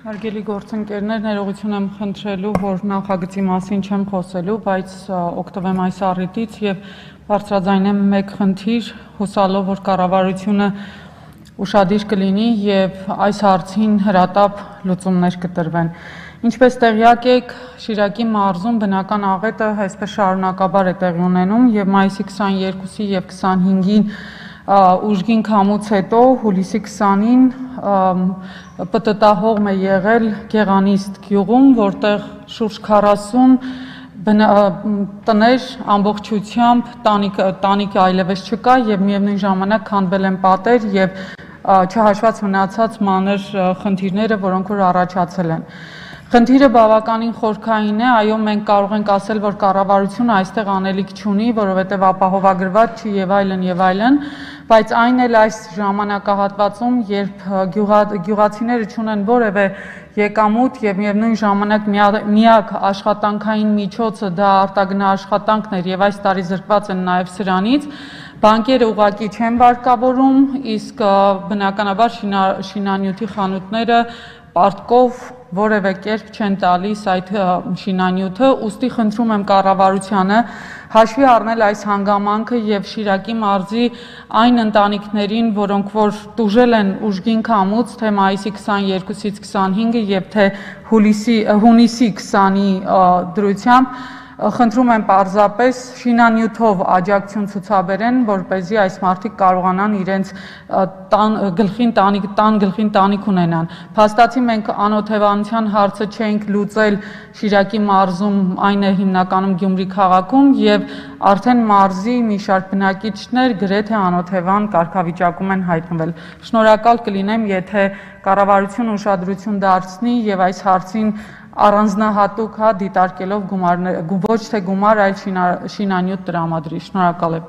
Հարգելի գործընկերներ, ներողություն եմ խնդրելու, որ նախագծի մասին չեմ խոսելու, բայց օգտվեմ այս առիթից եւ բարձրաձայնեմ մեկ խնդիր, հուսալով, որ կառավարությունը ուշադիր կլինի եւ այս հարցին հրատապ լուծումներ կտրվեն։ Ինչպես տեղյակ եք, Շիրակի մարզում բնական աղետը այսպես շարունակաբար է տեղի ունենում եւ մայիսի 22-ի եւ 25-ին ուժգին քամուց հետո հուլիսի 20-ին պտտահողմ է եղել Գեղանիստ գյուղում, որտեղ շուրջ 40 տներ ամբողջությամբ տանիքը այլևս չկա եւ միևնույն ժամանակ քանդվել են պատեր եւ չհաշված մնացած մանր խնդիրները, որոնք որ առաջացել են։ Խնդիրը բավականին խորքային է, այո, մենք կարող ենք ասել, որ կառավարությունը այստեղ անելիք չունի, որովհետև ապահովագրված չի եւ այլն, բայց այն էլ այս ժամանակահատվածում, երբ գյուղացիները չունեն որևէ եկամուտ եւ միևնույն ժամանակ միակ աշխատանքային միջոցը դա արտագնա աշխատանքն էր եւ այս տարի զրկված են նաեւ սրանից, բանկերը ուղղակի չեն վարկավորում, իսկ բնականաբար շինանյութի խանութները պարտքով որևէ կերպ չեն տալիս այդ շինանյութը, ուստի խնդրում եմ կառավարությանը հաշվի առնել այս հանգամանքը եւ Շիրակի մարզի այն ընտանիքներին, որոնք որ տուժել են ուժգին քամուց, թե մայիսի 22-ից 25-ը եւ թե հունիսի 20-ի դրությամբ, խնդրում եմ պարզապես շինանյութով աջակցություն ցուցաբերեն, որպեսզի այս մարդիկ կարողանան իրենց գլխին տանիք ունենան։ Փաստացի մենք անօթևանության հարցը չենք լուծել Շիրակի մարզում, այն է հիմնականում Գյումրի քաղաքում եւ արդեն մարզի մի շարք բնակիչներ գրեթե անօթևան կարգավիճակում են հայտնվել։ Շնորհակալ կլինեմ, եթե կառավարությունը ուշադրություն դարձնի եւ այս հարցին առանձնահատուկ դիտարկելով ոչ թե գումար, այլ շինանյութ տրամադրի։ Շնորհակալ եմ։